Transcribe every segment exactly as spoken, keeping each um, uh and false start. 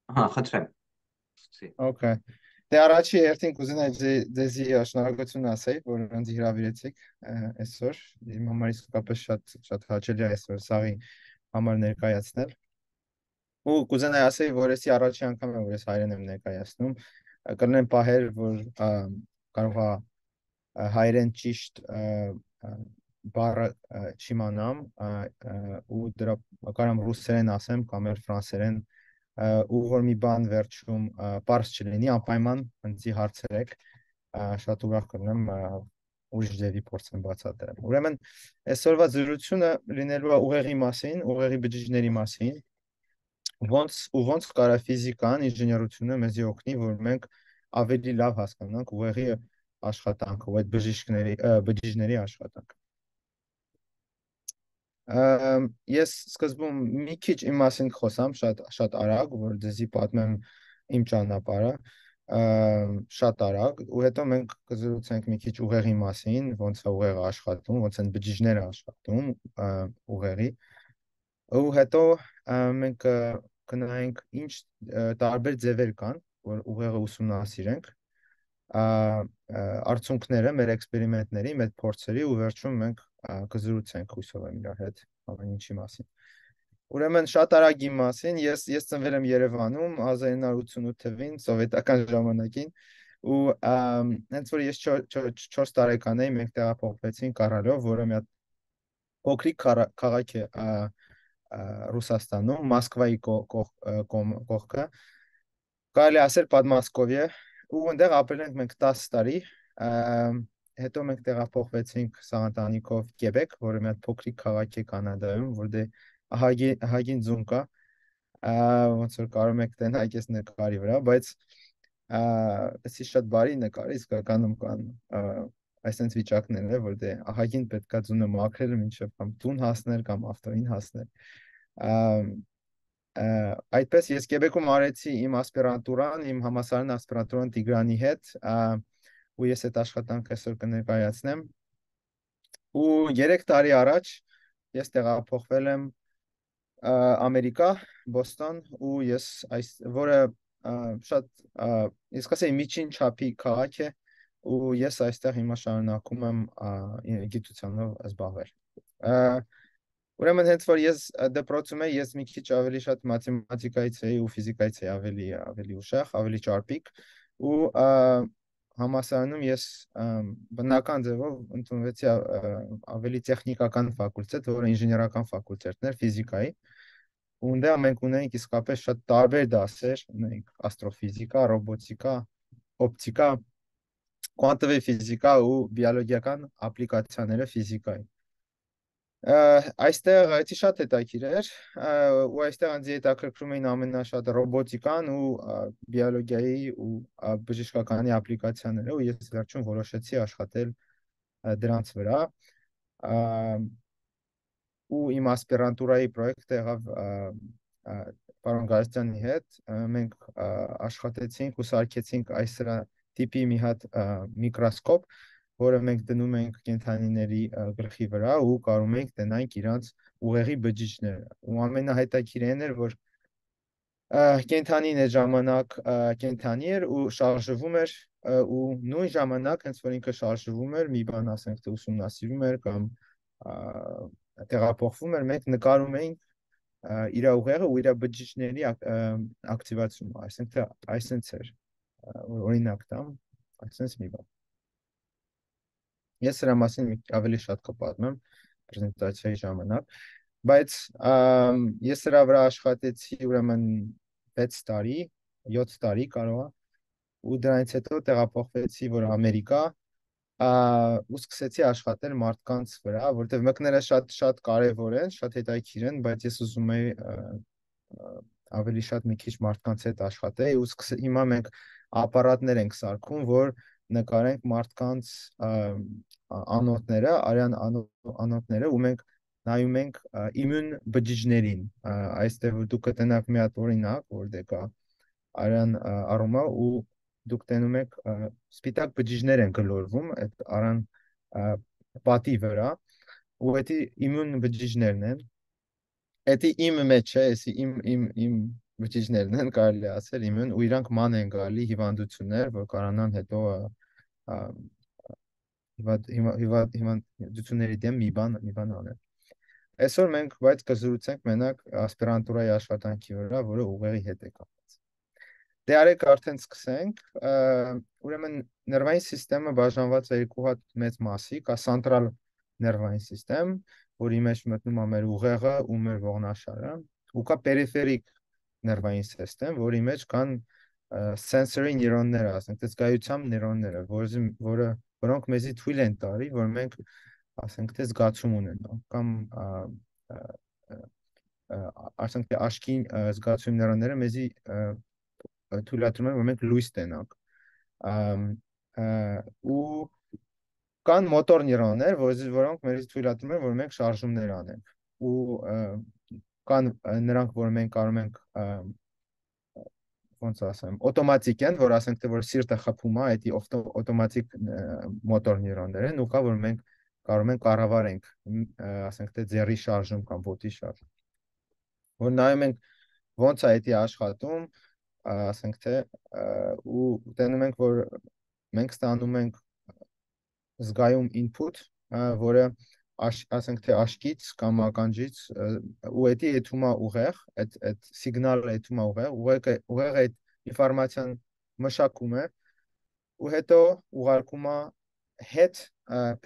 Ահա, խնդրեմ։ Սկսի։ Okay։ Դե առաջի երթին կուզենայի ձե- ձեզի շնորհակալություն ասեի, որ ինձ հրավիրեցիք ը, այսօր։ Իմ համար իսկապես շատ շատ հաճելի է այսօր սաղի համար ներկայացնել։ Ու կուզենայի ասեի, որ էսի առաջի անգամ է, որ ես հայերեն եմ ներկայացնում։ Ը, Կլինեն պահեր, որ ա, կարող է ա, հայերեն ճիշտ ա, ա, բառը ա, չիմանամ ա, ա, ու դրա կարամ ռուսերեն ասեմ կամ էլ ֆրանսերեն ա, ու որ մի բան վերջում ա, պարզ չլինի, անպայման ընձի հարցրեք, ա, շատ ուրախ կլինեմ ա, ուրիշ ձևի փորձեմ բացատրեմ։ Ուրեմն այսօրվա զրույցությունը լինելու է ուղեղի մասին, ուղեղի բջիջների մասին, ոնց ու ոնց կարա ֆիզիկան, ինժեներությունը մեզի օգնի, որ մենք ավելի լավ հասկանանք ուղեղի աշխատանքը, ու այդ բժիշկների ը, բջիջների աշխատանքը։ Ամ, Ես սկզբում մի քիչ իմ մասին խոսամ, շատ շատ արագ, որ ձեզի պատմեմ իմ ճանապարհը, ամ, շատ արագ, ու հետո մենք կզրուցենք մի քիչ ուղեղի մասին, ոնց է ուղեղը աշխատում, ոնց են բջիջները աշխատում ա, ուղեղի, ու հետո ա, մենք ա, կնայենք ինչ ա, տարբեր ձևեր կան, որ ուղեղը ուսումնասիրենք, ա, ա, արդյունքները մեր էքսպերիմենտների, մեր փորձերի ու վերջում մենք ա, կզրուցենք հույսով եմ իրար հետ ամեն ինչի մասին։ Ուրեմն շատ արագ իմ մասին, ես ես ծնվել եմ Երևանում հազար ինը հարյուր ութսունութ թվին, սովետական ժամանակին, ու ամ, հենց որ ես չորս տարեկան էի, մենք տեղափոխվեցինք Կարալով, որը մի հատ փոքրիկ քարա- քաղաք է ա, ա, Ռուսաստանում, Մոսկվայի կո- կող- ա, կողմ- կողքը, կարելի է ասել Պատմասկովիա, ու այնտեղ ապրել ենք մենք տասը տարի, ամ, հետո մենք տեղափոխվեցինք սաղանտանիքով Կեբեկ, որը մի հատ փոքրիկ քաղաք է Կանադայում, որ դե ահագին ահագին ձուն կա, ա, ոնց որ կարող եք տեսնել այս նկարի վրա, բայց ա, էսի շատ բարի նկար է, իսկականում կան ա, այսպես վիճակներ է, որ դե ահագին պետքա ձունը մաքրել մինչև կամ տուն հասնել կամ ավտոյին հասնել։ Ամ, ա, Այդպես ես Կեբեկում արեցի իմ ասպիրանտուրան, իմ համալսարան ասպիրանտուրան Տիգրանի հետ, ա, ու ես այդ աշխատանքը այսօր կներկայացնեմ։ Ու երեք տարի առաջ ես տեղափոխվել եմ ա, Ամերիկա, Բոստոն, ու ես այս որը ա, շատ ա, ես կասեի միջին չափի քաղաք է, ու ես այստեղ հիմա շարունակում եմ ա, գիտությանով զբաղվել։ Ա, Ուրեմն հենց որ ես ա, դպրոցում էի, ես մի քիչ ավելի շատ մաթեմատիկայից էի ու ֆիզիկայից էի ավելի ավելի ուշեղ, ավելի ճարպիկ, ու ա, համալսարանում ես ամ, բնական ձևով ընդունվեցի ա, ա, ավելի տեխնիկական ֆակուլտետ, որը ինժեներական ֆակուլտետն էր ֆիզիկայի, ու այնտեղ մենք ունենք իսկապես շատ տարբեր դասեր, ունենք աստրոֆիզիկա, ռոբոտիկա, օպտիկա, կվանտովի ֆիզիկա ու բիոլոգիական ապլիկացիաները ֆիզիկայի։ Ա, Այստեղ այդի շատ հետաքրքիր էր, ա, ու այստեղ ինձ հետաքրքրում էին ամենաշատը ռոբոտիկան ու ա, բիոլոգիայի ու ա, բժշկականի ապլիկացիաները, ու ես վերջում որոշեցի աշխատել ա, դրանց վրա, ա, ու իմ ասպիրանտուրայի պրոյեկտը եղավ ա, ա, պարոն Գարստյանի հետ, ա, մենք ա, աշխատեցինք ու սարքեցինք այս սրա տիպի մի հատ ա, միկրոսկոպ, որը մենք դնում ենք կենդանիների ա, գլխի վրա ու կարում ենք տնենք իրանց ուղեղի բջիջները։ Ու ամենահետաքրքիրն էր, որ ա, կենդանին այդ ժամանակ ա, կենդանի էր ու շարժվում էր, ա, ու նույն ժամանակ հենց որ ինքը շարժվում էր, մի բան ասենք թե ուսումնասիրում էր կամ ա, տեղափոխվում էր, մենք նկարում էինք ա, իր ուղեղը ու իր բջիջների ակ- ա, ակտիվացումը, այսինքն թե այսինքն էր, ա, որ օրինակ տամ, այսինքն մի բան։ Ես սրա մասին մի ավելի շատ կպատմեմ պրեզենտացիայի ժամանակ, բայց ամ, ես սրա վրա աշխատեցի ուրեմն վեց տարի, յոթ տարի կարող է, ու դրանից հետո տեղափոխվեցի որ Ամերիկա, ա, ու սկսեցի աշխատել մարդկանց վրա, որտեղ մկները շատ շատ կարևոր են, շատ հետաքրքիր են, բայց ես ուզում եի ա, ա, ավելի շատ մի քիչ մարդկանց հետ աշխատեի, ու սկսե- հիմա մենք ապարատներ ենք սարքում, որ նկարենք մարդկանց ա, ա, անոթները, արյան անո- անոթները, ու մենք նայում ենք ա, իմուն բջիջներին, ա, այստեղ որ դուք կտնաք մի հատ օրինակ, որ դե կա արյան ա, առումա, ու դուք տենում եք ա, սպիտակ բջիջներ են գլորվում այդ արան ա, պատի վրա, ու դա իմուն բջիջներն են, Էդի իմ մեջ է, էսի իմ իմ իմ բջիջներն են կարելի ասել իմուն ու իրանք ման են գալի հիվանդություններ, որ կարանան հետո հիվանդությունների դեմ մի բան մի բան անել։ Այսօր մենք բայց կզրուցենք մենակ ասպիրանտուրայի աշխատանքի վրա, որը ուղեղի հետ է կապված։ Դե արեք արդեն սկսենք, ուրեմն ներվային սիստեմը բաժանված է երկու հատ մեծ մասի, կա սենտրալ ներվային սիստեմ, որի մեջ մտնում է մեր ուղեղը ու մեր ողնաշարը, ու կա պերիֆերիկ ներվային սիստեմ, որի մեջ կան sensory նեյրոնները, ասենք, զգայության նեյրոնները, որը որոնք մեզի թույլ են տալի, որ մենք ասենք թե զգացում ունենանք կամ ասենք թե աչքի զգացում նեյրոնները մեզի թույլատրում են, որ մենք լույս տենանք ու կան մոտոր նեյրոններ, որոնք մեզ թույլատրում են, որ մենք շարժումներ անենք ու կան նրանք, որ մենք կարող ենք ոնց ասեմ, օտոմատիկ են, որ ասենք թե որ սիրտը խփում է, այդի օտոմատիկ մոտոր նեյրոններ են, ու կա որ մենք կարող ենք կառավարենք, ասենք թե ձեռի շարժում կամ ոտի շարժում։ Որ նայում ենք ոնց է այդի աշխատում, ասենք թե ու տենում ենք, որ մենք ստանում ենք զգայուն input, որը ասենք թե աշկից կամ ականջից ու էդի եթում է ուղեղ, այդ այդ սիգնալը եթում է ուղեղ, ուղեղը ուղեղը այդ ինֆորմացիան մշակում է ու հետո ուղարկում է հետ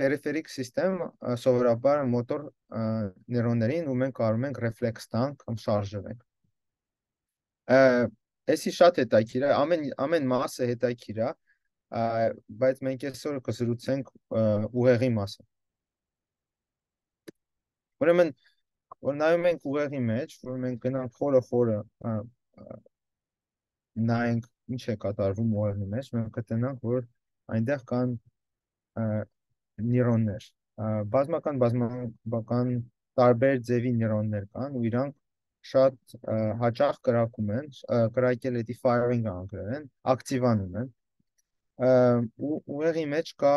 պերիֆերիկ սիստեմ սովորաբար մոտոր նեյրոններին ու մենք կարող ենք ռեֆլեքս տանք կամ շարժվենք։ Էսի շատ հետաքրքիր է, ամեն ամեն մասը հետաքրքիր է, բայց մենք այսօր կզրուցենք ուղեղի մասին։ Ուրեմն, որ նայում ենք ուղեղի մեջ, որ մենք գնանք խորը խորը նայենք ինչ է կատարվում ուղեղի մեջ, մենք կտենանք, որ այնտեղ կան նեյրոններ, բազմական բազմական տարբեր ձևի նեյրոններ կան ու իրանք շատ հաճախ կրակում են, կրակել էդի firing անգլերեն են, ակտիվանում են ու ուղեղի մեջ կա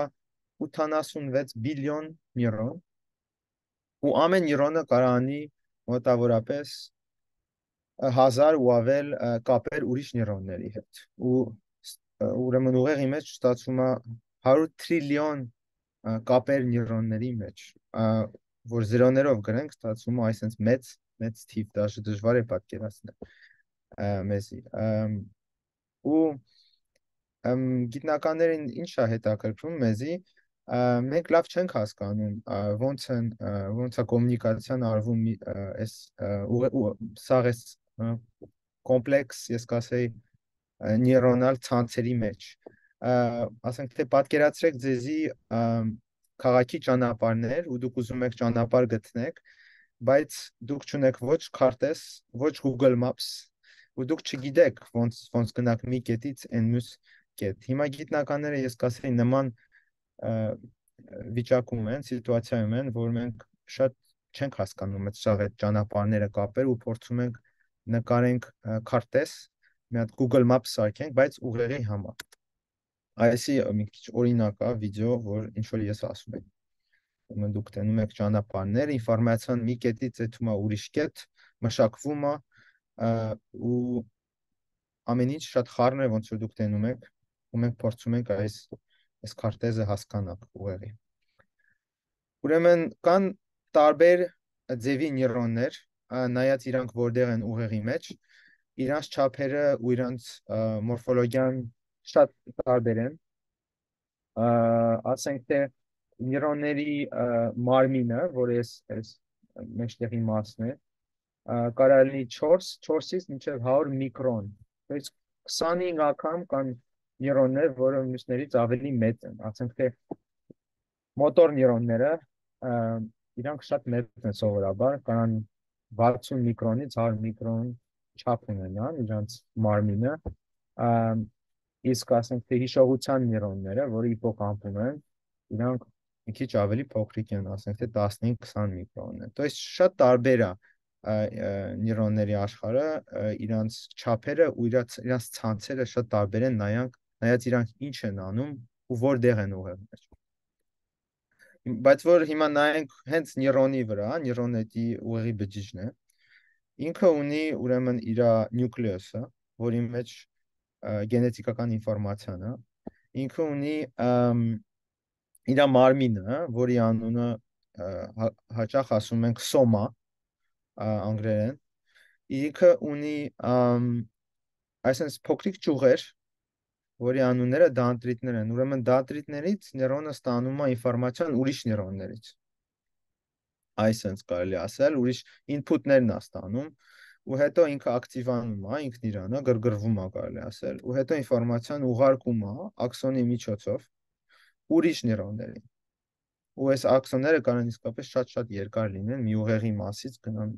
ութանասունվեց բիլիոն նեյրոն ու ամեն նեյրոնը կարանի մոտավորապես հազար ու ավել կապեր ուրիշ նեյրոնների հետ ու ուրեմն ուղեղի մեջ ստացվում է հարյուր տրիլիոն կապեր նեյրոնների մեջ, որ զրոներով գրենք, ստացվում է այսպես մեծ մեծ թիվ, դաժե դժվար է պատկերացնել մեզի ու գիտնականներին ինչ է հետաքրքրում մեզի, մենք լավ չենք հասկանում ոնց են ոնց է կոմունիկացիան արվում այս սաղ էս կոմպլեքս, ես կասեի նեյրոնալ ցանցերի մեջ, ասենք թե պատկերացրեք ձեզի քաղաքի ճանապարհներ ու դուք ուզում եք ճանապարհ գտնեք, բայց դուք չունեք ոչ քարտեզ, ոչ Google Maps ու դուք չգիտեք ոնց ոնց գնաք մի կետից այն մյուս կետ։ Հիմա գիտնականները ես կասեի նման վիճակում են, սիտուացիայում են, որ մենք շատ չենք հասկանում այդ շաղ այդ ճանապարհները կապել ու փորձում ենք նկարենք քարտեզ, մի հատ Google Maps սարքենք, բայց ուղեղի համար։ Այսի մի քիչ օրինակ է վիդեո, որ ինչ որ ես ասում եմ։ Ուրեմն դուք տենում եք ճանապարհներ, ինֆորմացիան մի կետից եթում է ուրիշ կետ, մշակվում է ու ամեն ինչ շատ խառն է, ոնց որ դուք տենում եք ու մենք փորձում ենք այս այս քարտեզը հասկանալ ուղեղի։ Ուրեմն կան տարբեր ձևի նեյրոններ, նայած իրանք որտեղ են ուղեղի մեջ, իրանց չափերը ու իրանց մորֆոլոգիան շատ տարբեր են, ասենք թե նեյրոնների մարմինը, որ ես այս մեջտեղի մասն է, կարող լինի չորս, չորսից մինչև հարյուր միկրոն, բայց քսանհինգ անգամ կան նեյրոններ, որը մյուսներից ավելի մեծ են, ասենք թե մոտոր նեյրոնները, իրանք շատ մեծ են սովորաբար, կարան վաթսուն միկրոնից հարյուր միկրոն չափ ունենան իրանց մարմինը, իսկ ասենք թե հիշողության նեյրոնները, որը հիպոկամպում են, իրանք մի քիչ ավելի փոքրիկ են, ասենք թե տասնհինգ քսան միկրոն են։ То есть շատ տարբեր է նեյրոնների աշխարհը, իրանց չափերը ու իրանց իրանց ցանցերը շատ տարբեր են, նայանք, նայած իրանք ինչ են անում ու որտեղ են ուղեղի մեջ։ Բայց որ հիմա նայենք հենց նեյրոնի վրա, նեյրոնետի ուղեղի բջիջն է, ինքը ունի ուրեմն իր նյուկլեուսը, որի մեջ գենետիկական ինֆորմացիան է, ինքը ունի իր մարմինը, որի անունը հաճախ ասում ենք սոմա անգլերեն, ինքը ունի այսինքն փոքրիկ ճյուղեր, որի անունները դանդրիտներ են, ուրեմն դանդրիտներից նեյրոնը ստանում է ինֆորմացիան ուրիշ նեյրոններից, այսինքն կարելի ասել, ուրիշ ինփուտներն է ստանում, ու հետո ինքը ակտիվանում է, ինքն իրանը գրգռվում է, կարելի ասել, ու հետո ինֆորմացիան ուղարկում է աքսոնի միջոցով ուրիշ նեյրոններին։ Ու այս աքսոնները կարող իսկապես շատ-շատ երկար լինեն, մի ուղեղի մասից գնան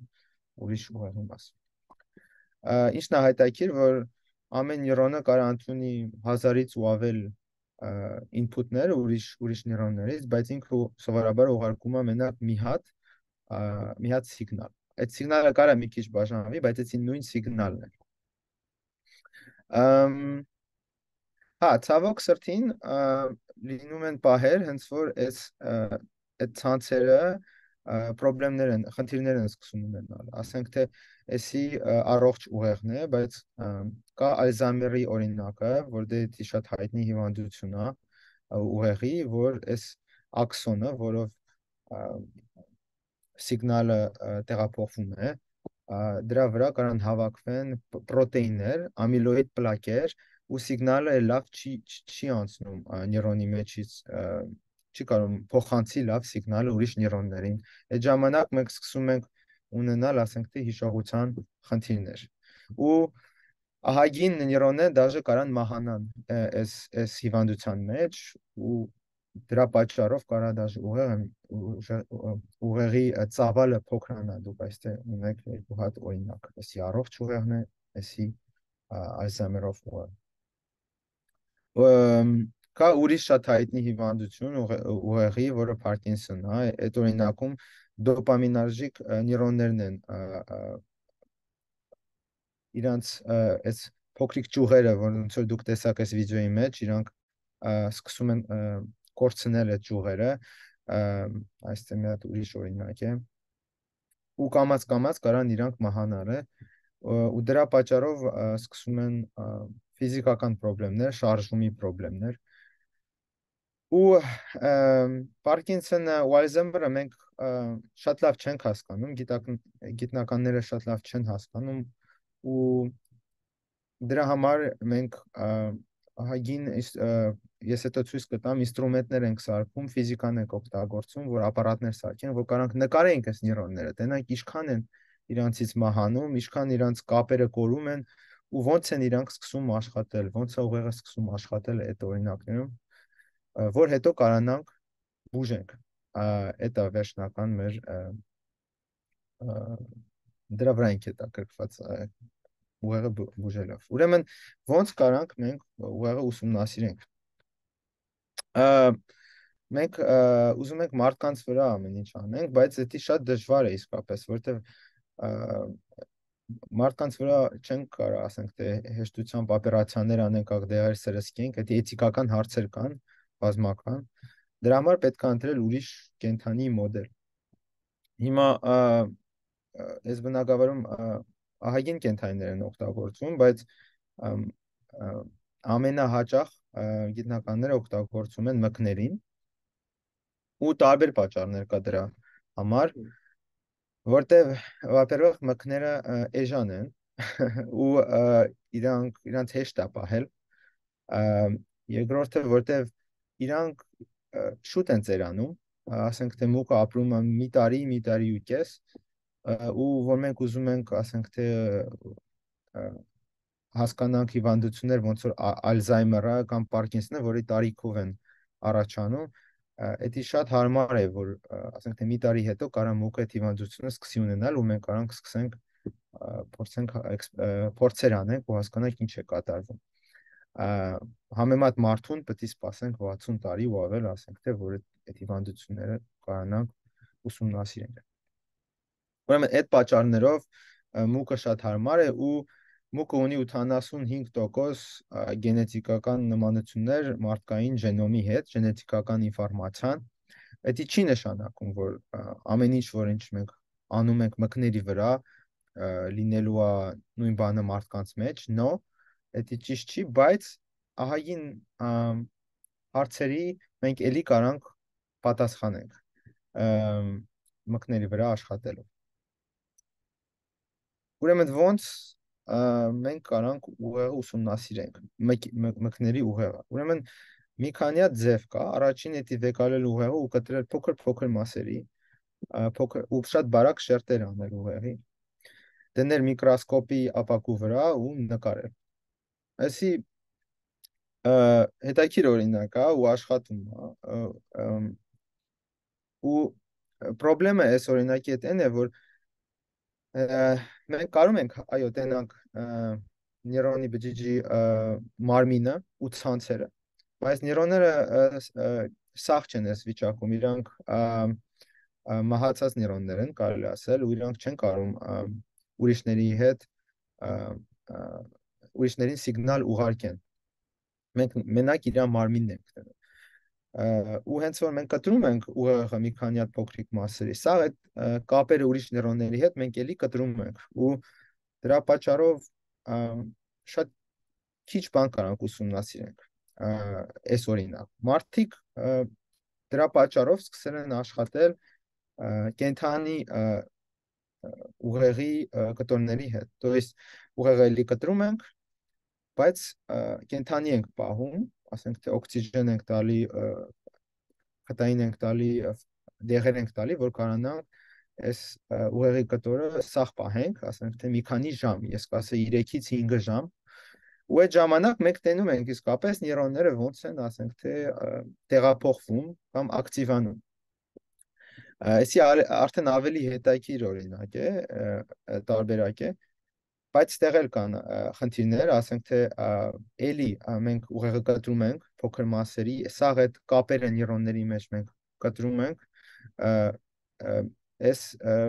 ուրիշ ուղեղի մաս։ Ինչն է հետաքրքիր, որ ամեն նեյրոնը կարող ընդունի հազարից ու ավել ինփուտներ ուրիշ ուրիշ նեյրոններից, բայց ինքը սովորաբար ուղարկում է մենակ մի հատ մի հատ սիգնալ։ Այդ սիգնալը կարող է մի քիչ բաժանվի, բայց այդ նույն սիգնալն է։ Հա, ցավոք սրտին լինում են պահեր, հենց որ այս այդ ցանցերը խնդիրներ են, խնդիրներ են սկսում ունենալ։ Ասենք թե էսի առողջ ուղեղն է, բայց կա Ալզհեյմերի օրինակը, որտեղ շատ հայտնի հիվանդություն է ուղեղի, որ այս աքսոնը, որով սիգնալը տեղափոխվում է, դրա վրա կարող հավաքվեն պրոտեիններ, ամիլոիդ պլակեր, ու սիգնալը լավ չի չի անցնում նեյրոնի մեջից, չի կարող փոխանցի լավ սիգնալը ուրիշ նեյրոններին։ Այդ ժամանակ մենք սկսում ենք ունենալ, ասենք թե հիշողության խնդիրներ։ Ու ահագին նեյրոնները դաժե կարան մահանան այս այս հիվանդության մեջ, ու դրա պատճառով կարա դաժե ուղեղը ուղեղի ծավալը փոքրանա, դուք այստեղ ունեք երկու հատ օրինակ, էսի առողջ ուղեղն է, էսի Ալզհեյմերով ուղեղը։ Կա ուրիշ շատ հայտնի հիվանդություն ուղեղի, որը Փարկինսոնն է, այդ օրինակում դոպամիներժիկ նեյրոններն են իրանց այս փոքրիկ ճյուղերը, ոնց որ դուք տեսաք այս վիդեոյի մեջ, իրանք սկսում են կորցնել այդ ճյուղերը, այստեղ մի հատ ուրիշ օրինակ է, ու կամաց-կամաց կարան իրանք մահանալ է, ու դրա պատճառով սկսում են ֆիզիկական խնդիրներ, շարժումի խնդիրներ։ Ու Պարկինսոնը ու Ալզհեյմերը մենք շատ լավ չենք հասկանում, գիտնականները շատ լավ չեն հասկանում, ու դրա համար մենք ահագին, ես հետո ցույց կտամ, ինստրումենտներ ենք սարքում, ֆիզիկան ենք օգտագործում, որ ապարատներ սարքեն, որ կարանք նկարենք այս նեյրոնները, տենանք ինչքան են իրանցից մահանում, ինչքան իրանց կապերը կորում են, ու ոնց են իրանք սկսում աշխատել, ոնց է ուղեղը սկսում աշխատել այդ օրինակներում, որ հետո կարանանք բուժենք։ Այդ է վերջնական մեր դրա վրա ենք հետաքրքրված ուղեղը բուժելով։ Ուրեմն ոնց կարանք մենք ուղեղը ուսումնասիրենք։ Մենք ուզում ենք մարդկանց վրա ամեն ինչ անենք, բայց դա շատ դժվար է իսկապես, որտեղ մարդկանց վրա չենք կարող, ասենք թե հեշտությամբ օպերացիաներ անենք, աղդեղեր սրսկենք, դա էթիկական հարցեր կան, բազմական։ Դրա համար պետք է ընտրել ուրիշ կենդանի մոդել։ Հիմա այս բնակավարում ահագին կենդանիներ են օգտագործվում, բայց ամենահաճախ գիտնականները օգտագործում են մկներին, ու տարբեր պատճառներ կա դրա համար, որտեղ վապերվող մկները էժան են ու իրանք իրանց հեշտ է պահել, երկրորդը որտեղ իրանք շուտ են ծերանում, ասենք թե մուկը ապրում է մի տարի, մի տարի ու կես, ու որ մենք ուզում ենք, ասենք թե հասկանանք հիվանդություններ, ոնց որ Ալզհեյմերը կամ Պարկինսոնը, որի տարիքով են առաջանում, դա շատ հարմար է, որ ասենք թե մի տարի հետո կարա մուկը այդ հիվանդությունը սկսի ունենալ, ու մենք կարանք սկսենք փորձենք փորձեր անենք ու հասկանանք ինչ է կատարվում։ Համեմատ մարդուն պետք է սպասենք վաթսուն տարի ու ավել, ասենք թե որ այդ հիվանդությունները կարանանք ուսումնասիրենք։ Ուրեմն այդ պատճառներով մուկը շատ հարմար է, ու մուկը ունի ութանասունհինգ տոկոս գենետիկական նմանություններ մարդկային ժենոմի հետ, գենետիկական ինֆորմացիան։ Դա չի նշանակում, որ ամեն ինչ, որ ինչ մենք անում ենք մկների վրա, լինելու է նույն բանը մարդկանց մեջ, no, դա ճիշտ չի, բայց ահագին հարցերի մենք էլի կարանք պատասխանենք մկների վրա աշխատելով։ Ուրեմն ոնց մենք կարանք ուղեղը ուսումնասիրենք, մկների ուղեղը։ Ուրեմն մի քանի հատ ձև կա, առաջին էդի վեկալել ուղեղը ու կտրել փոքր-փոքր մասերի, փոքր ու շատ բարակ շերտեր անել ուղեղի, դնել միկրոսկոպի ապակու վրա ու նկարել։ Այսի հետաքրքիր օրինակ է ու աշխատում է ու պրոբլեմը այս օրինակի հետ այն է, որ մենք կարում ենք, այո, տենանք նեյրոնի բջիջի մարմինը ու ցանցերը, բայց նեյրոնները սաղ չեն այս վիճակում, իրանք մահացած նեյրոններ են, կարելի ասել, ու իրանք չեն կարող ուրիշների հետ ուրիշներին սիգնալ ուղարկեն։ Մենք մենակ իր մարմինն ենք տենում։ Ու հենց որ մենք կտրում ենք ուղեղը մի քանի հատ փոքրիկ մասերի, սա այդ կապերը ուրիշ նեյրոնների հետ մենք էլի կտրում ենք ու դրա պատճառով շատ քիչ բան կարանք ուսումնասիրենք այս օրինակ։ Մարդիկ դրա պատճառով սկսել են աշխատել կենդանի ուղեղի կտորների հետ, то есть ուղեղը էլի կտրում ենք, բայց կենդանի ենք պահում, ասենք թե օքսիգեն ենք տալի, խտային ենք տալի, դեղեր ենք տալի, որ կարողանանք այս ուղեղի կտորը սաղ պահենք, ասենք թե մի քանի ժամ, ես կասեի երեքից հինգ ժամ, ու այդ ժամանակ մենք տենում ենք իսկապես նեյրոնները ոնց են, ասենք թե տեղափոխվում կամ ակտիվանում։ Այսի արդեն ավելի հետաքրքիր օրինակ է, տարբերակ է, բայց ստեղ էլ կան խնդիրներ, ասենք թե էլի մենք ուղեղը կտրում ենք փոքր մասերի, սաղ այդ կապերը նեյրոնների մեջ մենք կտրում ենք, այս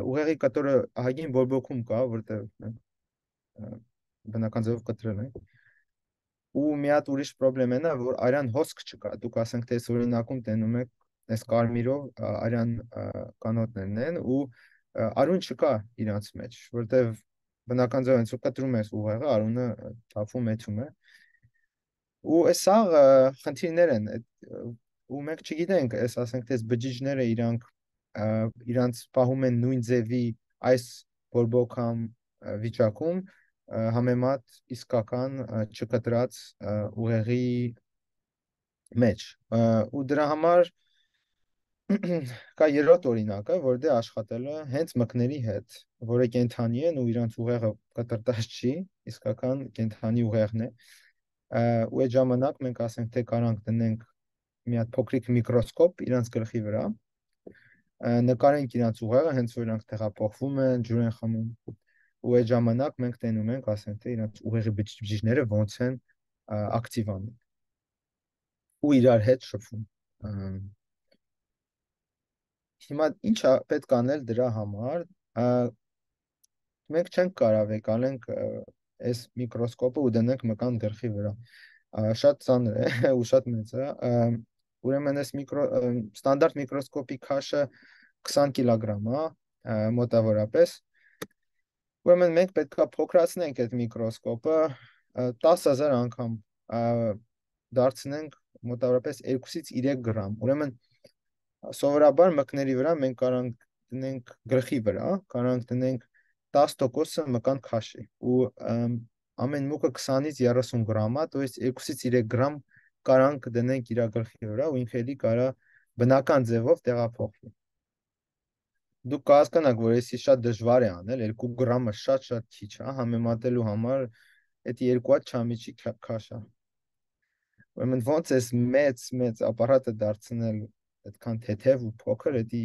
ուղեղի կտորը ահագին բորբոքում կա, որտեղ մենք բնական ձևով կտրել ենք, ու մի հատ ուրիշ պրոբլեմ է նա, որ արյան հոսք չկա, դուք ասենք թե այս օրինակում տենում եք այս կարմիրով արյան կանոթներն են ու արուն չկա իրանց մեջ, որտեղ բնական ձևով հենց որ կտրում ես ուղեղը, արունը թափվում մեծում է։ Ու այս սաղ խնդիրներ են, ու մենք չգիտենք, այս ասենք թե այս բջիջները իրանք իրանց պահում են նույն ձևի այս բորբոքամ վիճակում համեմատ իսկական չկտրած ուղեղի մեջ։ Ու դրա համար կա երրորդ օրինակը, որ դե աշխատել է հենց մկների հետ, որը կենդանի են ու իրանց ուղեղը կտրտած չի, իսկական կենդանի ուղեղն է։ Ու այդ ժամանակ մենք ասենք թե կարանք դնենք մի հատ փոքրիկ միկրոսկոպ իրանց գլխի վրա, նկարենք իրանց ուղեղը, հենց որ իրանք տեղափոխվում են, ջուր են խմում, ու այդ ժամանակ մենք տենում ենք, ասենք թե իրանց ուղեղի բջիջները ոնց են ակտիվանում ու իրար հետ շփվում։ Հիմա ինչ է պետք անել դրա համար, մենք չենք կարող եկալենք այս միկրոսկոպը ու դնենք մկան գլխի վրա, շատ ծանր է ու շատ մեծ է, ուրեմն այս ստանդարտ միկրոսկոպի քաշը քսան կիլոգրամ է, մոտավորապես, ուրեմն մենք պետք է փոքրացնենք այդ միկրոսկոպը տասը հազար անգամ դարձնենք մոտավորապես երկուսից երեք գրամ, ուրեմն սովորաբար մկների վրա մենք կարանք դնենք գլխի վրա, կարանք դնենք տասը տոկոսը մկան քաշի ու ամեն մուկը քսանից երեսուն գրամ է, то есть երկուսից երեք գրամ կարանք դնենք իր գլխի վրա ու ինքը էլի կարա բնական ձևով տեղափոխվի։ Դուք կհասկանաք, որ էսի շատ դժվար է անել, երկու գրամը շատ-շատ քիչ է, համեմատելու համար էդի երկու հատ չամիչի քաշ է։ Ուրեմն ոնց էս մեծ մեծ ապարատը դարձնել այդքան թեթև ու փոքր, էդի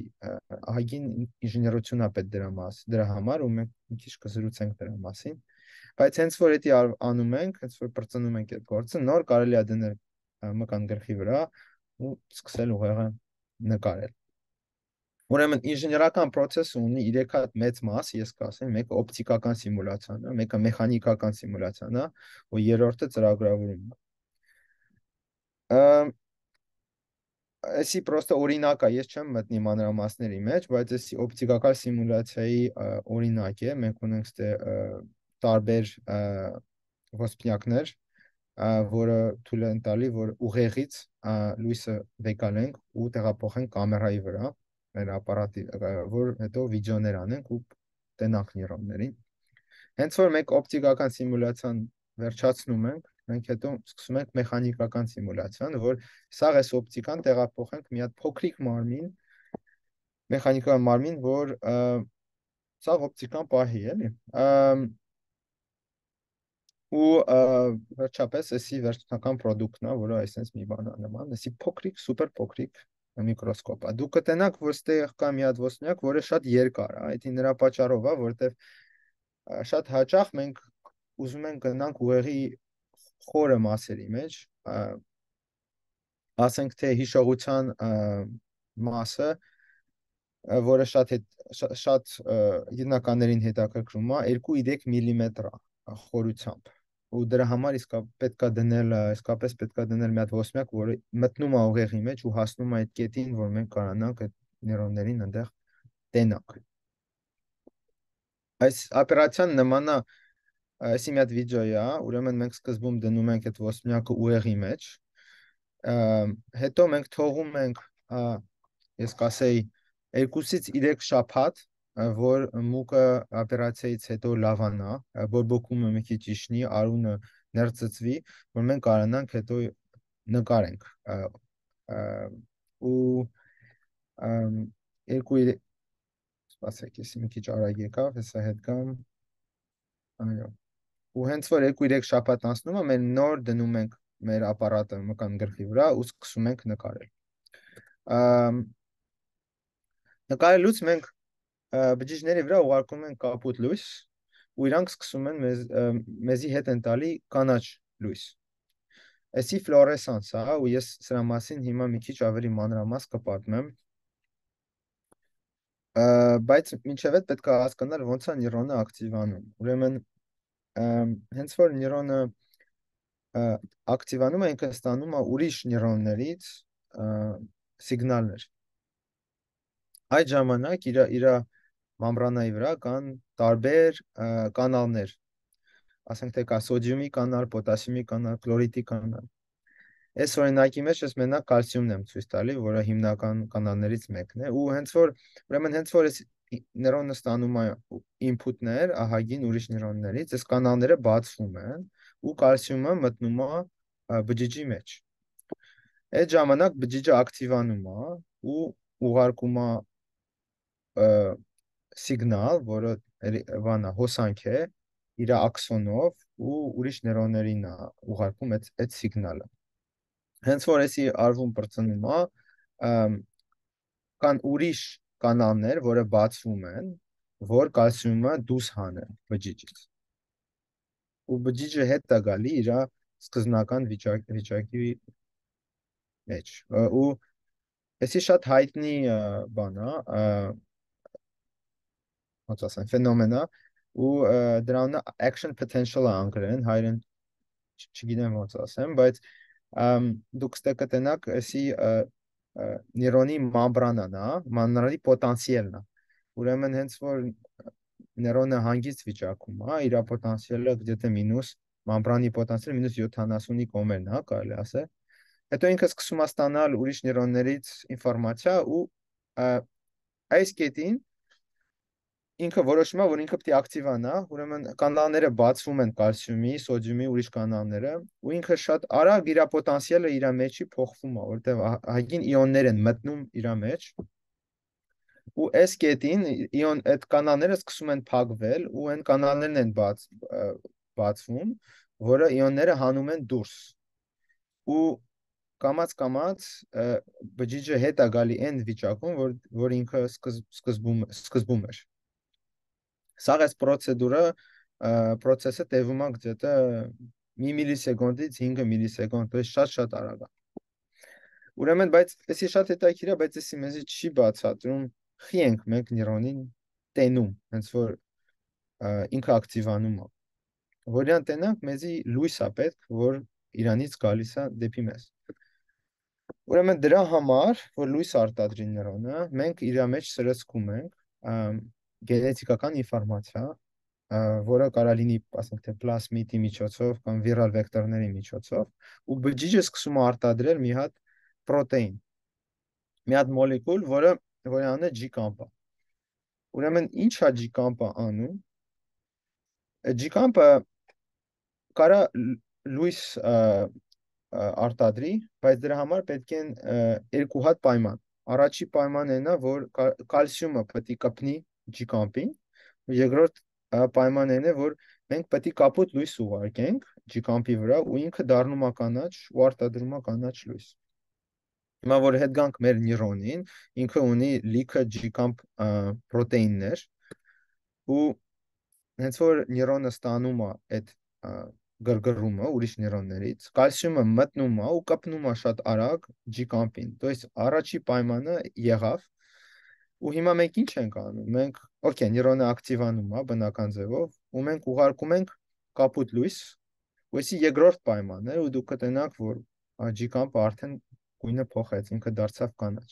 ահագին ինժեներություն է պետք դրա մաս, դրա համար ու մենք մի քիչ կզրուցենք դրա մասին, բայց հենց որ էդի անում ենք, հենց որ բրծնում ենք այդ գործը, նոր կարելի է դնել մկան գլխի վրա ու սկսել ուղեղը նկարել։ Ուրեմն ինժեներական process-ը ունի երեք հատ մեծ մաս, ես կասեմ, մեկը օպտիկական սիմուլյացիան է, մեկը մեխանիկական սիմուլյացիան է, ու երրորդը ծրագրավորումն է։ Էսի պրոստը օրինակ է, ես չեմ մտնի մանրամասների մեջ, բայց էսի օպտիկական սիմուլյացիայի ա, օրինակ է, մենք ունենք ստե ա, տարբեր ա, ոսպնյակներ, ա, որը թույլ են տալի, որ ուղեղից ա, լույսը վեկալենք ու տեղափոխենք կամերայի վրա, մեր ապարատի, ա, որ հետո վիդեոներ անենք ու տենանք նյուրոններին։ Հենց որ մենք օպտիկական սիմուլյացիան վերջացնում ենք, մենք հետո սկսում ենք մեխանիկական սիմուլյացիան, որ սաղ էս օպտիկան տեղափոխենք մի հատ փոքրիկ մարմին, մեխանիկական մարմին, որ ա, սաղ օպտիկան պահի, էլի։ Ա, ու ա, վերջապես էսի վերջնական պրոդուկտն է, որը այսպես մի բան է նման, էսի փոքրիկ, սուպեր փոքրիկ միկրոսկոպ է։ Դուք կտենաք, որ ստեղ կա մի հատ ոսպնյակ, որը շատ երկար է, դա նրա պատճառով է, որտեվ ա, շատ հաճախ մենք ուզում ենք գնանք ուղեղի խորը մասերի մեջ, ա, ասենք թե հիշողության ա, մասը, ա, որը շատ հետ, շա- շատ ա, գիտնականներին հետաքրքրում է, երկու երեք միլիմետր է ա, խորությամբ։ Ու դրա համար իսկա պետքա դնել, ա, իսկապես պետքա դնել մի հատ ոսմյակ, որը մտնում է ուղեղի մեջ ու հասնում է այդ կետին, որ մենք կարողանանք այդ նեյրոններին այնտեղ տենանք։ Այս օպերացիան նման է, այսի մի հատ վիդեո է, ուրեմն մենք սկզբում դնում ենք այդ ոսմյակը ուղեղի մեջ, ա, հետո մենք թողում ենք, ա, ես կասեի, երկուսից երեք շաբաթ, ա, որ մուկը օպերացիայից հետո լավանա, ա, բորբոքումը մի քիչ իջնի, արունը ներծծվի, որ մենք կարողանանք հետո նկարենք։ Ա, ա, ու ամ, երկու երեք, սպասեք, ես մի քիչ արագ եկավ, հեսա հետ գամ, այո։ Ու հենց որ երկու երեք շաբաթ անցնում է, մենք նոր դնում ենք մեր ապարատը մկան գլխի վրա ու սկսում ենք նկարել։ Ամ, Նկարելուց մենք ա, բջիջների վրա ուղարկում ենք կապույտ լույս ու իրանք սկսում են մեզ, ա, մեզի հետ են տալի կանաչ լույս։ Էսի ֆլորեսանս է, ու ես սրա մասին հիմա մի քիչ ավելի մանրամաս կպատմեմ, ա, բայց մինչև այդ պետք է հասկանալ ոնց է նյուրոնը ակտիվանում։ Ուրեմն ամ, հենց որ նյուրոնը ա, ակտիվանում է, ինքը ստանում է ուրիշ նյուրոններից ա, սիգնալներ։ Այդ ժամանակ իր իր մամբրանայի վրա կան տարբեր ա, կանալներ, ասենք թե կա սոդիումի կանալ, պոտասիումի կանալ, կլորիդի կանալ։ Այս օրինակի մեջ ես մենակ կալցիումն եմ ցույց տալի, որը հիմնական կանալներից մեկն է, ու հենց որ ուրեմն հենց որ այս նեյրոնը ստանում է ինփութներ ահագին ուրիշ նեյրոններից, այս կանալները բացվում են ու կալցիումը մտնում է ա, բջիջի մեջ։ Այդ ժամանակ բջիջը ակտիվանում է ու ուղարկում է ա, սիգնալ, որը երի- բանա հոսանք է, իր աքսոնով ու ուրիշ նեյրոններին է ուղարկում այդ այդ սիգնալը։ Հենց որ էսի արվում բրծնում է, ամ, կան ուրիշ կանալներ, որը բացվում են, որ կալցիումը դուրս հանեն բջիջից։ Ու բջիջը հետ է գալի իր սկզբնական վիճակ, վիճակի մեջ։ Ա, Ու էսի շատ հայտնի ա, բան է, ա, ոնց ասեմ, ֆենոմեն է, ու ա, դրան action potential է անգլերեն, հայերեն չ- չգիտեմ ոնց ասեմ, բայց ամ, դուք ստե կտենաք էսի ա, ա, նեյրոնի մամբրանան է, մանրանի պոտենցիալն է։ Ուրեմն հենց որ նեյրոնը հանգիստ վիճակում է, իր պոտենցիալը где-то մինուս մամբրանի պոտենցիալը մինուս յոթանասունի կոմերն է, կարելի ասել։ Հետո ինքը սկսում է ստանալ ուրիշ նեյրոններից ինֆորմացիա ու ա, այս կետին ինքը որոշում է, որ ինքը պետք է ակտիվանա, ուրեմն կանալները բացվում են կալցիումի, սոդիումի, ուրիշ կանալները, ու ինքը շատ արագ իր պոտենցիալը իր մեջի փոխվում է, որտեղ հագին իոններ են մտնում իր մեջ, ու այս կետին իոն այդ կանալները սկսում են փակվել, ու այն կանալներն են բաց ա, բացվում, որը իոնները հանում են դուրս։ Ու կամած կամած ա, բջիջը հետ է գալի այն վիճակում, որ որ ինքը սկզբ, սկզբում սկզբում էր։ Սա այս պրոցեդուրը, ա, պրոցեսը տևում է где-то մի միլիսեկունդից հինգ միլիսեկունդ, то есть շատ-շատ արագ է։ Ուրեմն, բայց էսի շատ հետաքրքիր է, բայց էսի մեզի չի բացատրում խի ենք մենք նեյրոնին տենում, հենց որ ա, ինքը ակտիվանում է։ Որյան տենանք մեզի լույս է պետք, որ իրանից գալիս է դեպի մեզ։ Ուրեմն դրա համար, որ լույս արտադրի նյրոնը, մենք իր մեջ սրսկում ենք ամ, գենետիկական ինֆորմացիա, ա, որը կարա լինի, ասենք թե պլասմիդի միջոցով կամ վիրալ վեկտորների միջոցով, ու բջիջը սկսում է արտադրել մի հատ պրոտեին, մի հատ մոլեկուլ, որը որի անունը G-կամպ է։ Ուրեմն ինչ է G-կամպը անում։ G-կամպը կարա լ- լույս ա, ա, արտադրի, բայց դրա համար պետք են ա, երկու հատ պայման։ Առաջի պայմանն է նա, որ կա- կալցիումը պետք է կպնի G-կամպին, երկրորդ ա, պայմանն է, որ մենք պետք է կապոտ լույս ուղարկենք G-կամպի վրա ու ինքը դառնում է կանաչ ու արտադրում է կանաչ լույս։ Հիմա որ հետ գանք մեր նյուրոնին, ինքը ունի լիքը G-կամպ ա, պրոտեիններ ու հենց որ նյուրոնը ստանում է այդ ա, գրգռումը ուրիշ նյուրոններից, կալցիումը մտնում է ու կպնում է շատ արագ G-կամպին։ То есть առաջի պայմանը եղավ ու հիմա մենք ինչ ենք անում։ Մենք, օքեյ, նյուրոնը ակտիվանում է բնական ձևով ու մենք ուղարկում ենք կապույտ լույս, ու էսի երկրորդ պայմանն է ու դուք կտենաք, որ G-կամպը արդեն գույնը փոխեց, ինքը դարձավ կանաչ։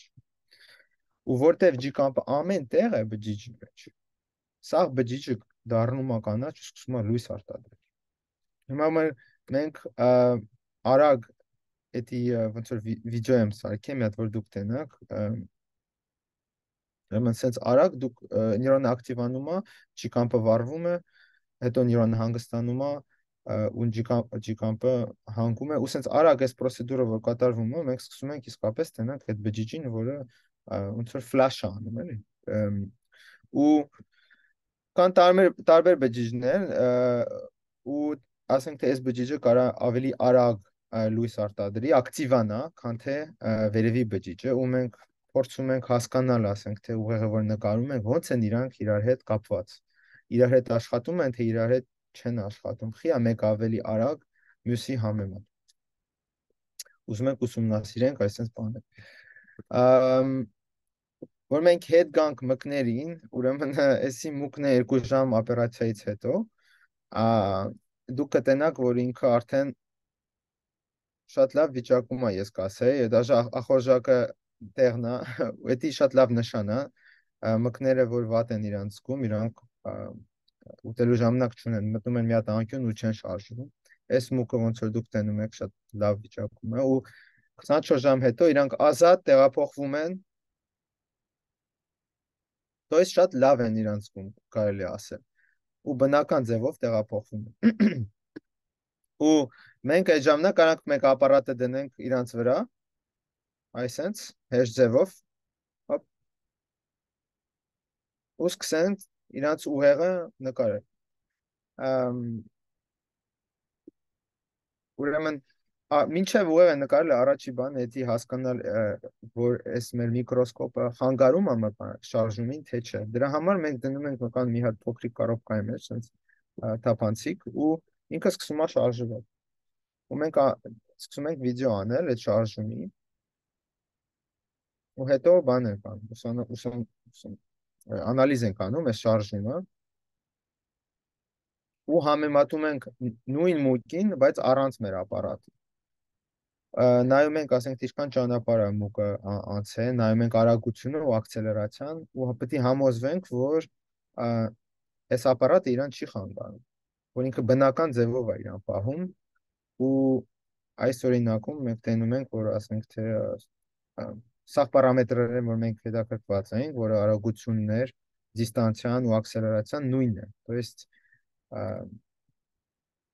Ու որտեվ G-կամպը ամեն տեղ է բջիջի մեջ, սա բջիջը դառնում է կանաչ ու սկսում է լույս արտադրել։ Հիմա մեր մենք ա, արագ էդի ա, ոնց որ վի- վիդեո եմ սարքեմ, մի հատ որ դուք տենաք, ա, ուրեմն sense արագ դուք ա, նյուրոնը ակտիվանում է, G-կամպը վառվում է, հետո նյուրոնը հանգստանում է, ա, ու G-կամպ- G-կամպը հանգում է, ու sense արագ այս պրոցեդուրը որ կատարվում է, մենք սկսում ենք իսկապես տենանք այդ բջիջին, որը ա, ոնց որ ֆլաշ է անում, էլի։ Ըմ, ու կան տարբեր տարբեր բջիջներ ը, ու ասենք թե այս բջիջը կարա ավելի արագ ը, լույս արտադրի, ակտիվանա, քան թե ը, վերևի բջիջը, ու մենք փորձում ենք հասկանալ, ասենք թե ուղեղը որ նկարում ենք, ոնց են իրանք իրար հետ կապված։ Իրար հետ աշխատում են, թե իրար հետ չեն աշխատում։ Խի է մեկ ավելի արագ, մյուսի համեմատ։ Ուզում ենք ուսումնասիրենք այսպես բաներ։ Ամ, Որ մենք հետ գանք մկներին, ուրեմն էսի մուկն է երկու ժամ օպերացիայից հետո, ա, դուք կտենաք, որ ինքը արդեն շատ լավ վիճակում է, ես կասեի, դաժե ախորժակը տեղն է, դա շատ լավ նշան է, ա, մկները, որ վատ են իրանց զգում, իրանք ա, ուտելու ժամանակ չունեն, մտնում են մի հատ անկյուն ու չեն շարժվում։ Այս մուկը ոնց որ դուք տենում եք, շատ լավ վիճակում է ու քսանչորս ժամ հետո իրանք ազատ տեղափոխվում են, то есть շատ լավ են իրանց զգում, կարելի է ասել, ու բնական ձևով տեղափոխվում են։ Ու մենք այդ ժամանակ կարանք մեկ ապարատը դնենք իրանց վրա, այսենց հեշտ ձևով, հոպ, ու սկսենք իրանց ուղեղը նկարել։ Ամ, Ուրեմն ա, մինչև ուղեղը նկարելը առաջի բանը էդի հասկանալ ը, որ այս մեր միկրոսկոպը խանգարում է մկան շարժումին, թե չէ։ Դրա համար մենք դնում ենք մկան մի հատ փոքրիկ կարողկայի մեջ, sense թափանցիկ ու ինքը սկսում է շարժվել։ Ու մենք ա, սկսում ենք վիդեո անել այդ շարժումի ու հետո բան ենք անում, ուսան, ուսան, ուսան, անալիզ ենք անում այս շարժումը ու համեմատում ենք նույն մուկին, բայց առանց մեր ապարատի։ Ա, նայում ենք, ասենք, թե ինչքան ճանապարհ է մուկը ա- անցել, նայում ենք արագությունը ու ակցելերացիան ու պետք է համոզվենք, որ ա, այս ապարատը իրան չի խանգարում, որ ինքը բնական ձևով է իրան պահում ու այս օրինակում մենք տենում ենք, որ ասենք թե ա, սաղ պարամետրերը, որ մենք հետաքրքրված ենք, որը արագություններ, դիստանցիան ու ակսելերացիան նույնն է։ То есть ա,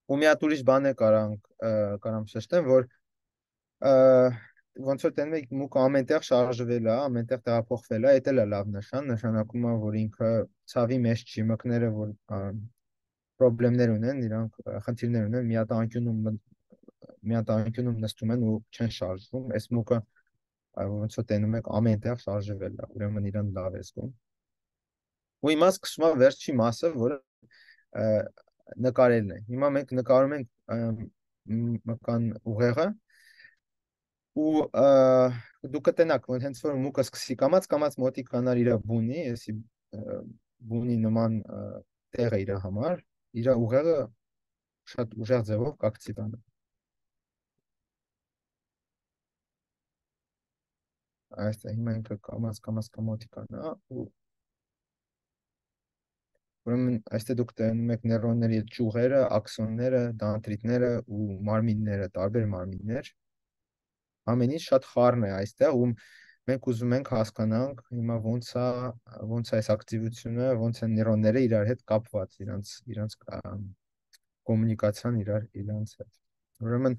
ու մի հատ ուրիշ բան է կարանք ա, կարամ շեշտեմ, որ ա, ոնց որ տենում եք մուկը ամենտեղ շարժվել է, ամենտեղ տեղափոխվել է, դա էլ է լավ նշան, նշանակում է, որ ինքը ցավի մեջ չի, մկները որ ա, խնդիրներ ունեն, իրանք ա, խնդիրներ ունեն, մի հատ անկյունում մտ- մի հատ անկյունում նստում են ու չեն շարժվում, այս մուկը ա, ոնց որ տենում եք ամենտեղ շարժվել է, ուրեմն իրան լավ է զգում։ Ու հիմա սկսում է վերջի մասը, որը ա, նկարելն է։ Հիմա մենք նկարում ենք ա, մ- մկան ուղեղը ու ա, դու կտենաք, որ հենց որ մուկը սկսի կամած կամած մոտիկ կանալ իր բունի, էսի ա, բունի նման ա, տեղը իր համար, իր ուղեղը շատ ուժեղ ձևով կակցիվանա։ այստեղ հիմա ինքը կամաց կամաց կամոտիկանա ու ուրեմն այստեղ դուք տենում եք նեյրոնների ճյուղերը, աքսոնները, դանդրիտները ու մարմինները, տարբեր մարմիններ։ Ամեն ինչ շատ խառն է այստեղ ու մենք ուզում ենք հասկանանք հիմա ոնց է ոնց է այս ակտիվությունը, ոնց են նեյրոնները իրար հետ կապված, իրանց իրանց կոմունիկացիան իրար իրանց հետ։ Ուրեմն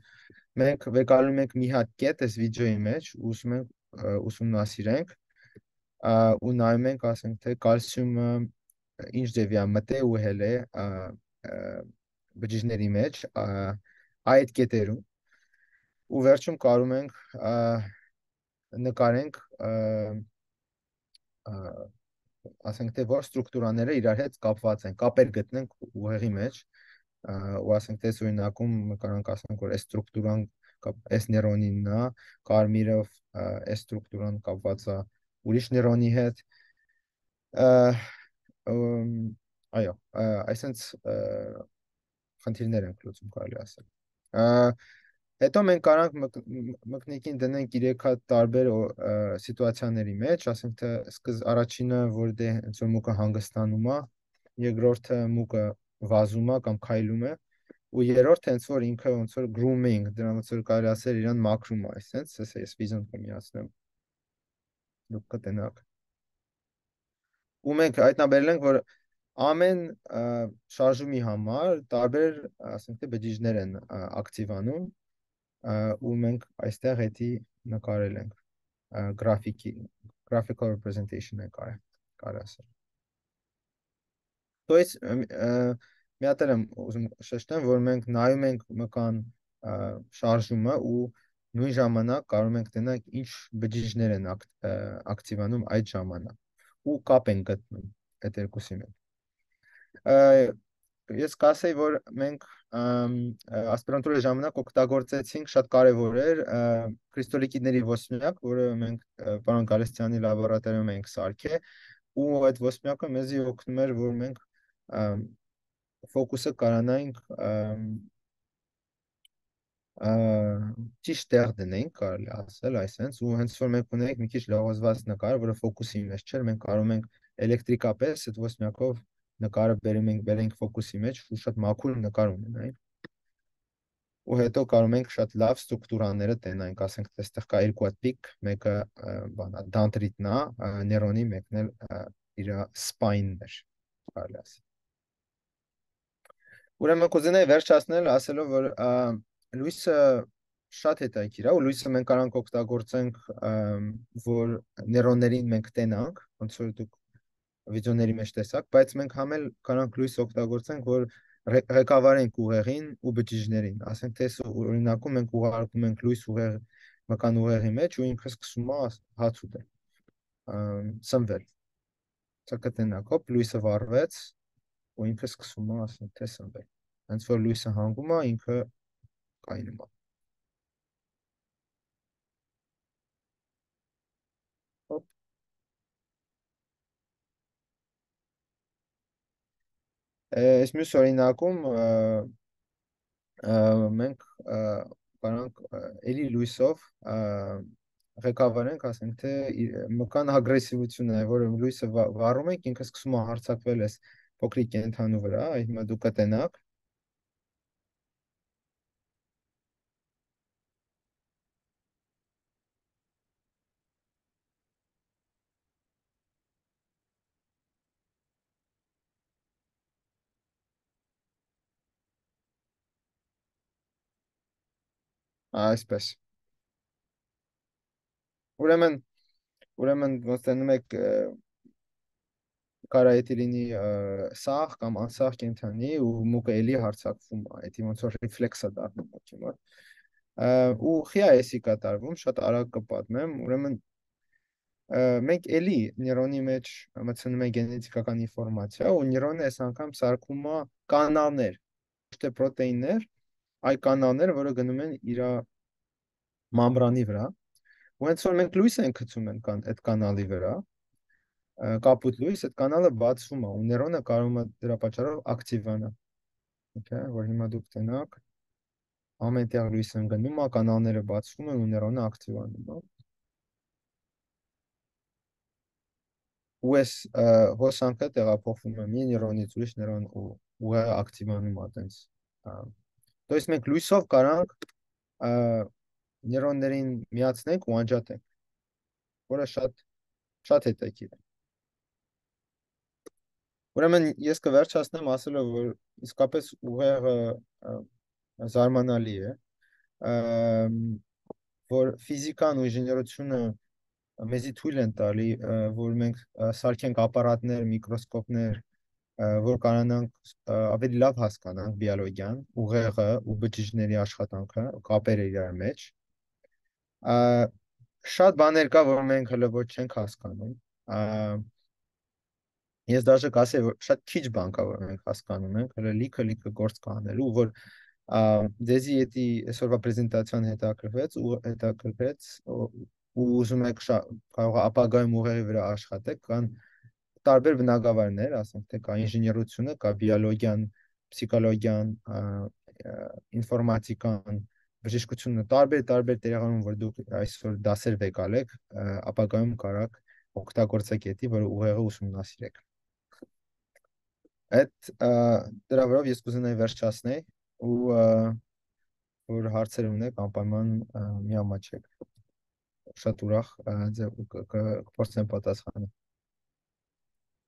մենք վեկալում ենք մի հատ կետ այս վիդեոյի մեջ, ուզում ենք ա, ուսումնասիրենք ա, ու նայում ենք, ասենք թե կալցիումը ինչ ձևի է մտե ու հել է ա, ա, բջիջների մեջ ա, այդ կետերում ու վերջում կարում ենք ա, նկարենք ա, ա, ասենք թե որ ստրուկտուրաները իրար հետ կապված են, կապեր գտնենք ուղեղի մեջ ա, ու ասենք թե այս օրինակում կարանք ասենք որ այս ստրուկտուրան կապ- այս նեյրոնինն է, կարմիրը ա, այս ստրուկտուրան կապված է ուրիշ նեյրոնի հետ ա, ըմ, այո, ա, այսինքն ա, խնդիրներ ենք լուծում կարելի ասել։ Ա, Հետո մենք կարանք մկ- մ- մկնիկին դնենք երեք հատ տարբեր օ- ա, սիտուացիաների մեջ, ասենք թե սկզ առաջինը, որ դե հենց որ մուկը հանգստանում է, երկրորդը մուկը վազում է կամ քայլում է, ու երրորդը հենց որ ինքը ոնց որ grooming, դրան ոնց որ կարելի ասել իրան մաքրում է, այսպես, ես ես վիզոն կմիացնեմ, դուք կտենաք։ Ու մենք հայտնաբերել ենք, որ ամեն ա, շարժումի համար տարբեր, ասենք թե բջիջներ են ա, ակտիվանում ա, ու մենք այստեղ էդի նկարել ենք ա, գրաֆիկի graphical representation է կարը կարը ասել։ То есть մի հատ էլ եմ ուզում շեշտեմ, որ մենք նայում ենք մկան ա, շարժումը ու նույն ժամանակ կարող ենք տենալ ինչ բջիջներ են ակտ, ա, ակտիվանում այդ ժամանակ ու կապ են գտնում այդ երկուսի մեջ։ Ա, Ես կասեի, որ մենք ամ, ա, ասպիրանտուրայի ժամանակ օգտագործեցինք շատ կարևոր էր ա, կրիստալիկիդների ոսպնյակ, որը մենք ա, պարոն Գալստյանի լաբորատորիայում ենք սարքել, ու այդ ոսպնյակը մեզի օգնում էր, որ մենք ամ, ֆոկուսը կարանայինք ամ, ա, ճիշտ տեղ դնենք, կարելի ասել, այսպես, ու հենց որ մենք ունենք մի քիչ լողոզված նկար, որը ֆոկուսի մեջ չէր, մենք կարող ենք էլեկտրիկապես այդ ոսպնյակով նկարը բերում ենք, բերենք ֆոկուսի մեջ ու շատ մաքուր նկար ունենայինք։ Ու հետո կարող ենք շատ լավ ստրուկտուրաները տենանք, ասենք թե այստեղ կա երկու հատ պիկ, մեկը ա, բանա դանդրիտն է, ա, նեյրոնի, մեկն էլ ա, իր սպայնն էր, կարելի ասել։ Ուրեմն կուզենայի վերջացնել ասելով, որ ա, լույսը շատ հետաքրքիր է ու լույսը մենք կարող ենք օգտագործենք, ամ, որ նեյրոններին մենք տենանք, ոնց որ դուք վիդեոների մեջ տեսակ, բայց մենք համ էլ կարող լույս օգտագործենք, որ ռե- ղեկավարենք ուղեղին ու բջիջներին։ Ասենք թե այս օրինակում մենք ուղարկում ենք լույս ուղեղ մկան ուղեղի մեջ ու ինքը սկսում է հաց ուտել, ամ, սնվել։ Սա կտենակ, հոպ, լույսը վառվեց ու ինքը սկսում է ասենք թե սնվել։ Հենց որ լույսը հանգում է, ինքը կայնում է։ Հոպ։ Այս մյուս օրինակում ա, ա, մենք ա, կարանք ա, էլի լույսով ա, ղեկավարենք, ասենք թե ի- մկան ագրեսիվությունը, որը լույսը վա- վառում ենք, ինքը սկսում է հարձակվել այս փոքրիկ կենդանու վրա, այդ հիմա դուք կտենաք, այսպես։ Ուրեմն, ուրեմն ոնց տենում եք ա, կարայետի լինի ա, սաղ կամ անսաղ կենդանի ու մուկը էլի հարձակվում է, այդ ոնց որ ռեֆլեքս է դառնում մոքի մոտ։ Ա, ու խիա էսի կատարվում, շատ արագ կպատմեմ, ուրեմն ա, մենք էլի նեյրոնի մեջ մտցնում ենք գենետիկական ինֆորմացիա ու նեյրոնը այս անգամ սարքում է կանալներ, ոչ թե պրոտեիններ, այլ կանալներ, որը գնում են իր մամբրանի վրա։ Ու հենց որ մենք լույս ենք գցում են կան, այդ կանալի վրա, ա, կապույտ լույս, այդ կանալը բացվում է ու նեյրոնը կարող է դրա պատճառով ակտիվանա։ Okay, որ հիմա դուք տենաք, ամեն տեղ լույսը գնում է, կանալները բացվում են ու նեյրոնը ակտիվանում է։ ու այս հոսանքը տեղափոխվում է մի նեյրոնից ուրիշ նեյրոն ու ուղեղը ակտիվանում է այտենց։ То есть մենք լույսով կարանք նեյրոններին միացնենք ու անջատենք, որը շատ շատ հետաքրքիր է։ Ուրեմն ես կվերջացնեմ ասելով, որ իսկապես ուղեղը զարմանալի է, որ ֆիզիկան ու ինժեներությունը մեզի թույլ են տալի, որ մենք սարքենք ապարատներ, միկրոսկոպներ, որ կարողանանք ավելի լավ հասկանանք բիոլոգիան, ուղեղը ու բջիջների աշխատանքը, կապերը իրար մեջ։ Շատ բաներ կա, որ մենք հələ ոչ չենք հասկանում։ Ես դաժե կասեի, որ շատ քիչ բան կա, որ մենք հասկանում ենք, հələ լիքը լիքը գործ կա անելու, որ դեզի էդի այսօրվա պրեզենտացիան հետաքրքրվեց ու հետաքրքրեց ու ուզում եք կարող է ապագայում ուղեղի վրա աշխատեք, կան տարբեր բնագավառներ, ասենք թե կա ինժեներությունը, կա բիոլոգիան, պսիխոլոգիան, ինֆորմատիկան, բժշկությունը, տարբեր տարբեր տեղերում, որ դուք այսօր դասեր վեկալեք, ապագայում կարաք օգտագործեք էդի, որ ուղեղը ուսումնասիրեք։ Այդ դրա վրով ես կուզենայի վերջացնել ու որ հարցեր ունեք, անպայման միամաչեք։ Շատ ուրախ կփորձեմ պատասխանել։